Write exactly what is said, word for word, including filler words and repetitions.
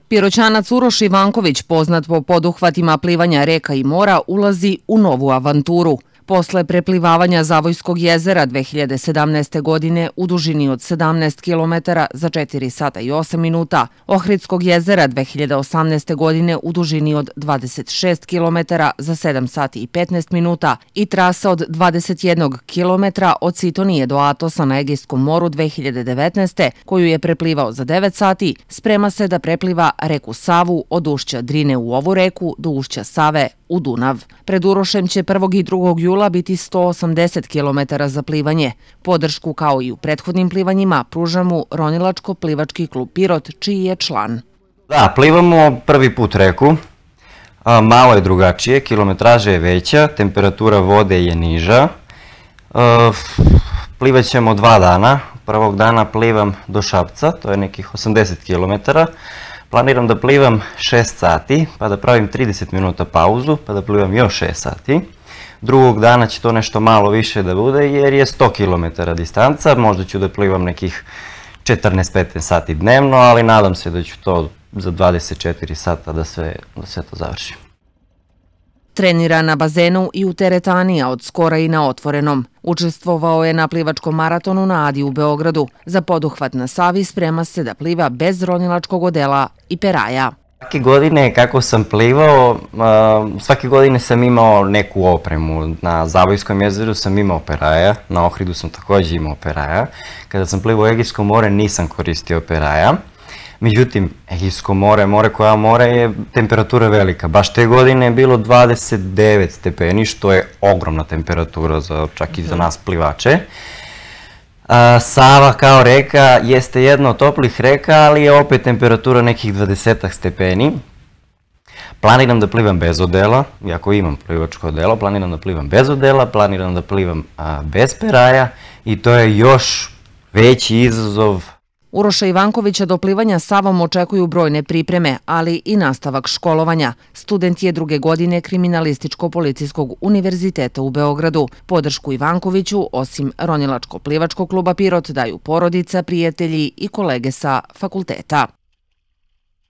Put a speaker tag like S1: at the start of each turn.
S1: Piroćanac Uroš Ivanković, poznat po poduhvatima plivanja reka i mora, ulazi u novu avanturu. Posle preplivavanja Zavojskog jezera dve hiljade sedamnaeste. godine u dužini od sedamnaest kilometara za četiri sata i osam minuta, Ohridskog jezera dve hiljade osamnaeste. godine u dužini od dvadeset šest kilometara za sedam sati i petnaest minuta i trasa od dvadeset jedan kilometra od Sitonije do Atosa na Egejskom moru dve hiljade devetnaeste. koju je preplivao za devet sati, sprema se da prepliva reku Savu od ušća Drine u ovu reku do ušća Save u Dunav. Pred Urošem će prvog i drugog jula biti sto osamdeset kilometara za plivanje. Podršku, kao i u prethodnim plivanjima, pruža mu Ronilačko-plivački klub Pirot, čiji je član.
S2: Da, plivamo prvi put reku. Malo je drugačije, kilometraža je veća, temperatura vode je niža. Plivat ćemo dva dana. Prvog dana plivam do Šapca, to je nekih osamdeset kilometara. Planiram da plivam šest sati, pa da pravim trideset minuta pauzu, pa da plivam još šest sati. Drugog dana će to nešto malo više da bude, jer je sto kilometara distanca. Možda ću da plivam nekih četrnaest do petnaest sati dnevno, ali nadam se da ću to za dvadeset četiri sata da sve, da sve to završim.
S1: Trenira na bazenu i u teretani, a od skora i na otvorenom. Učestvovao je na plivačkom maratonu na Adi u Beogradu. Za poduhvat na Savi sprema se da pliva bez ronilačkog odela i peraja.
S2: Svake godine kako sam plivao, svake godine sam imao neku opremu. Na Zavojskom jezeru sam imao peraja, na Ohridu sam također imao peraja. Kada sam plivao u Egejsko more nisam koristio peraja. Međutim, Egejsko more, more koja more je temperatura velika. Baš te godine je bilo dvadeset devet stepeni, što je ogromna temperatura čak i za nas plivače. Sava kao reka jeste jedna od toplih reka, ali je opet temperatura nekih dvadeset stepeni. Planiram da plivam bez odela, iako imam plivačko odelo, planiram da plivam bez odela, planiram da plivam bez peraja i to je još veći izazov.
S1: Uroša Ivankovića do plivanja Savom očekuju brojne pripreme, ali i nastavak školovanja. Student je druge godine Kriminalističko-policijskog univerziteta u Beogradu. Podršku Ivankoviću, osim Ronilačko-plivačkog kluba Pirot, daju porodica, prijatelji i kolege sa fakulteta.